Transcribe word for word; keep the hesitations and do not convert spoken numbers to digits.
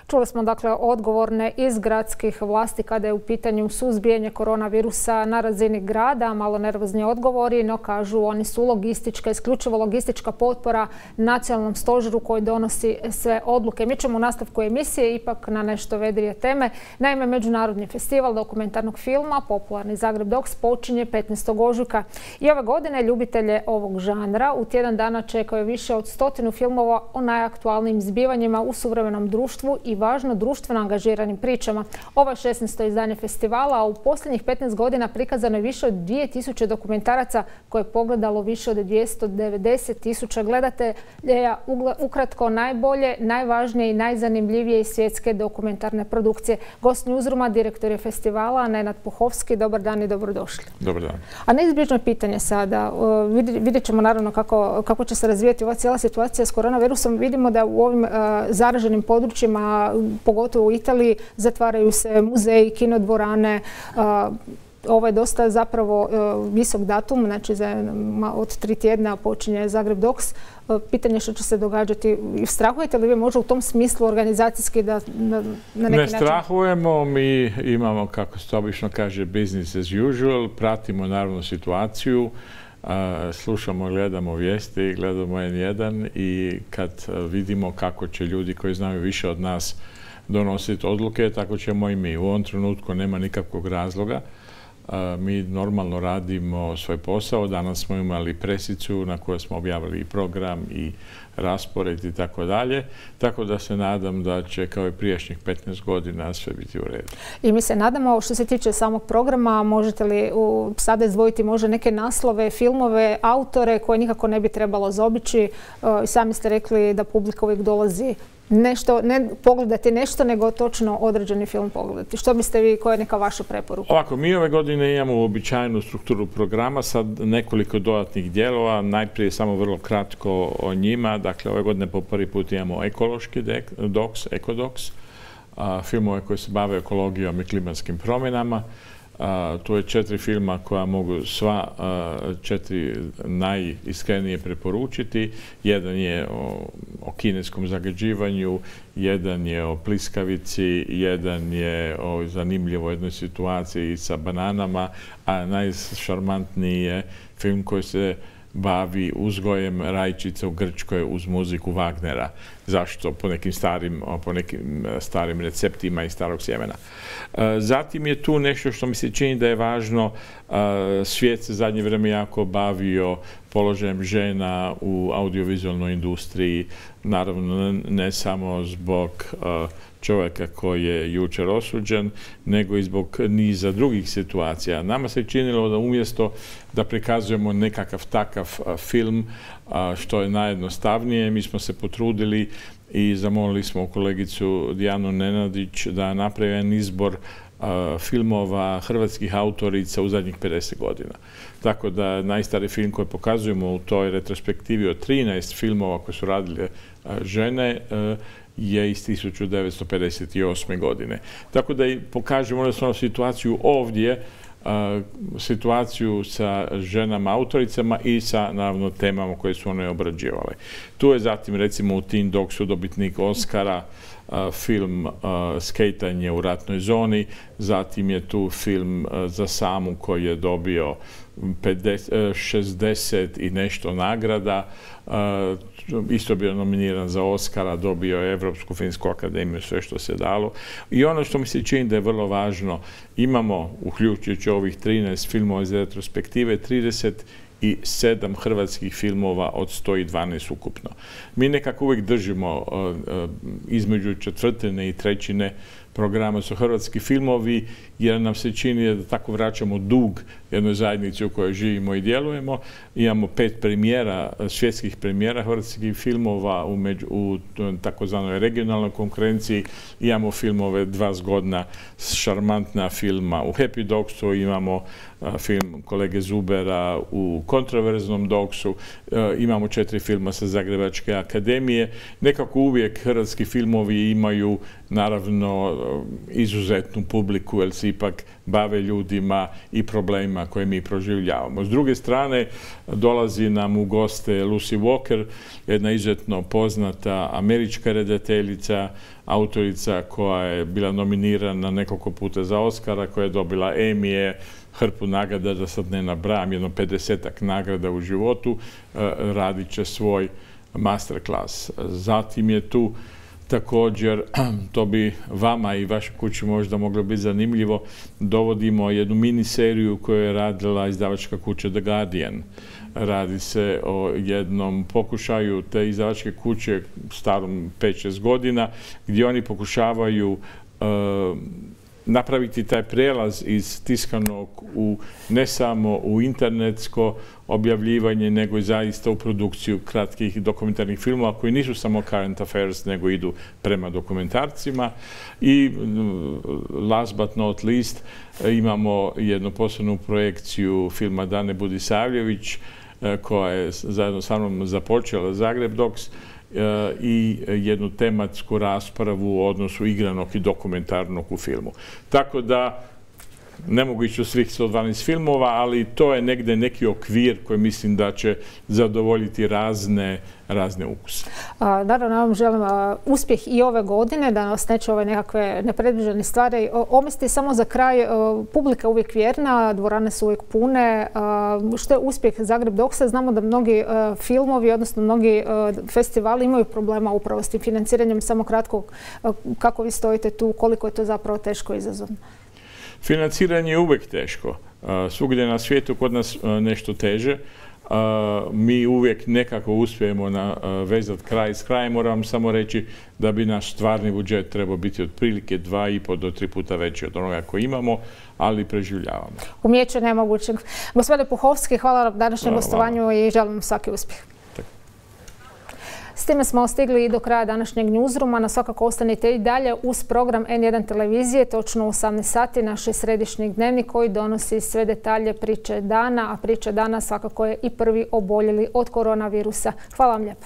Čuli smo dakle odgovorne iz gradskih vlasti kada je u pitanju suzbijanje koronavirusa na razini grada, malo nervozni odgovori, no kažu oni su logistička, isključivo logistička potpora nacionalnom stožeru koji donosi sve odluke. Mi ćemo u nastavku emisije ipak na nešto vedrije teme. Naime, Međunarodni festival dokumentarnog filma, popularni Zagreb Docs, počinje petnaestog ožujka. I ove godine ljubitelje ovog žanra u tjedan dana čekaju više od stotinu filmova o najaktualnijim zbivanjima u suvremenom društvu i važno društveno angažiranim pričama. Ovo je šesnaesto izdanje festivala, a u posljednjih petnaest godina prikazano je više od dvije tisuće dokumentaraca koje je pogledalo više od dvjesto devedeset tisuća gledatelja. Ukratko, najbolje, najvažnije i najzanimljivije svjetske dokumentarne produkcije. Gost Newsrooma, direktor je festivala, Nenad Puhovski. Dobar dan i dobrodošli. Dobar dan. A neizbježno pitanje sada. Vidjet ćemo naravno kako, kako će se razvijati ova cijela situacija s koronavirusom. Vidimo da u ovim uh, zaraženim područjima, pogotovo u Italiji, zatvaraju se muzeji, kinodvorane. Uh, Ovo je dosta zapravo uh, visok datum, znači za, od tri tjedna počinje Zagreb Docs. Uh, pitanje što će se događati. Strahujete li vi možda u tom smislu organizacijski da na, na neki način? Ne strahujemo, mi imamo, kako se to obično kaže, business as usual, pratimo naravno situaciju. Uh, slušamo, gledamo vijesti, gledamo en jedan i kad uh, vidimo kako će ljudi koji znaju više od nas donositi odluke, tako ćemo i mi. U ovom trenutku nema nikakvog razloga. Uh, mi normalno radimo svoj posao. Danas smo imali presicu na kojoj smo objavili i program i raspored i tako dalje. Tako da se nadam da će kao i prijašnjih petnaest godina sve biti u redu. I mi se nadamo, što se tiče samog programa, možete li u, sada izdvojiti možda neke naslove, filmove, autore koje nikako ne bi trebalo zaobići? Uh, sami ste rekli da publika uvijek dolazi nešto, ne pogledati nešto, nego točno određeni film pogledati. Što biste vi, koja je neka vaša preporuka? Ovako, mi ove godine imamo uobičajenu strukturu programa, sad nekoliko dodatnih dijelova. Najprije samo vrlo kratko o njima. Dakle, ove godine po prvi put imamo ekološki docs, ekodocs, filmove koji se bave ekologijom i klimatskim promjenama. Uh, tu je četiri filma koja mogu sva uh, četiri najiskrenije preporučiti. Jedan je o, o kineskom zagađivanju, jedan je o pliskavici, jedan je o zanimljivoj jednoj situaciji sa bananama, a najšarmantniji je film koji se bavi uzgojem rajčica u Grčkoj uz muziku Wagnera. Zašto? Po nekim starim, po nekim starim receptima iz starog sjemena. Zatim je tu nešto što mi se čini da je važno. Svijet se zadnje vrijeme jako bavio položajem žena u audiovizualnoj industriji. Naravno, ne samo zbog čovjeka koji je jučer osuđen, nego i zbog niza drugih situacija. Nama se činilo da umjesto da prikazujemo nekakav takav film, što je najjednostavnije, mi smo se potrudili i zamolili smo kolegicu Dijanu Nenadić da napravi jedan izbor filmova hrvatskih autorica u zadnjih pedeset godina. Tako da najstariji film koji pokazujemo u toj retrospektivi od trinaest filmova koje su radile žene je iz tisuću devetsto pedeset osme. godine. Tako da i pokažemo jednostavno situaciju ovdje, situaciju sa ženama autoricama i sa naravno temama koje su one obrađivale. Tu je zatim recimo u Teen Docsu dobitnik Oscara film Skejtanje u ratnoj zoni, zatim je tu film Za samu koji je dobio šezdeset i nešto nagrada, isto bio nominiran za Oscara, dobio je Evropsku filmsku akademiju, sve što se dalo. I ono što mi se čini da je vrlo važno, imamo, uključujući ovih trinaest filmova iz retrospektive, trideset i sedam hrvatskih filmova od sto dvanaest ukupno. Mi nekako uvijek držimo između četvrtine i trećine programa su hrvatski filmovi, jer nam se čini da tako vraćamo dug jednoj zajednici u kojoj živimo i djelujemo. Imamo pet premijera, svjetskih premijera hrvatskih filmova u, među, u takozvanoj regionalnoj konkurenciji. Imamo filmove dva zgodna, šarmantna filma u Happy Docsu, imamo a, film kolege Zubera u kontroverznom Docsu, a, imamo četiri filma sa Zagrebačke akademije. Nekako uvijek hrvatski filmovi imaju naravno izuzetnu publiku, jer se ipak bave ljudima i problemima koje mi proživljavamo. S druge strane, dolazi nam u goste Lucy Walker, jedna izuzetno poznata američka redateljica, autorica koja je bila nominirana nekoliko puta za Oscara, koja je dobila Emije, hrpu nagrada, da sad ne nabrajam, jedno pedesetak nagrada u životu, radit će svoj masterclass. Zatim je tu također, to bi vama i vašoj kući možda moglo biti zanimljivo, dovodimo jednu miniseriju koju je radila izdavačka kuća The Guardian. Radi se o jednom pokušaju te izdavačke kuće starom pet šest godina, gdje oni pokušavaju uh, napraviti taj prijelaz iz tiskanog u ne samo u internetsko objavljivanje, nego i zaista u produkciju kratkih dokumentarnih filmova koji nisu samo current affairs, nego idu prema dokumentarcima. I last but not least imamo jednu posebnu projekciju filma Dane Budisavljević koja je zajedno sa mnom započela Zagreb Docs i jednu tematsku raspravu u odnosu igranog i dokumentarnog u filmu. Tako da ne mogu ići u svih sto dvanaest filmova, ali to je negdje neki okvir koji mislim da će zadovoljiti razne, razne ukuse. Naravno, ja vam želim uspjeh i ove godine, da nas neće ove nekakve nepredviđene stvari omesti. Samo za kraj, publika je uvijek vjerna, dvorane su uvijek pune. Što je uspjeh Zagreb Docsa? Znamo da mnogi filmovi, odnosno mnogi festivali imaju problema upravo s tim financiranjem. Samo kratko, kako vi stojite tu, koliko je to zapravo teško i izazovno? Financiranje je uvijek teško. Svugdje na svijetu, kod nas nešto teže. Mi uvijek nekako uspijemo vezati kraj s krajem. Moram samo reći da bi naš stvarni budžet trebao biti otprilike dva i po do tri puta veći od onoga koji imamo, ali preživljavamo. Umijeće nemogućeg. Gospodine Puhovski, hvala na današnjem gostovanju i želim svaki uspjeh. S time smo stigli i do kraja današnjeg newsrooma. Na svakako ostanite i dalje uz program N jedan televizije, točno u osamnaest sati, naš središnji dnevnik koji donosi sve detalje priče dana, a priče dana svakako je i prvi oboljeli od koronavirusa. Hvala vam lijepo.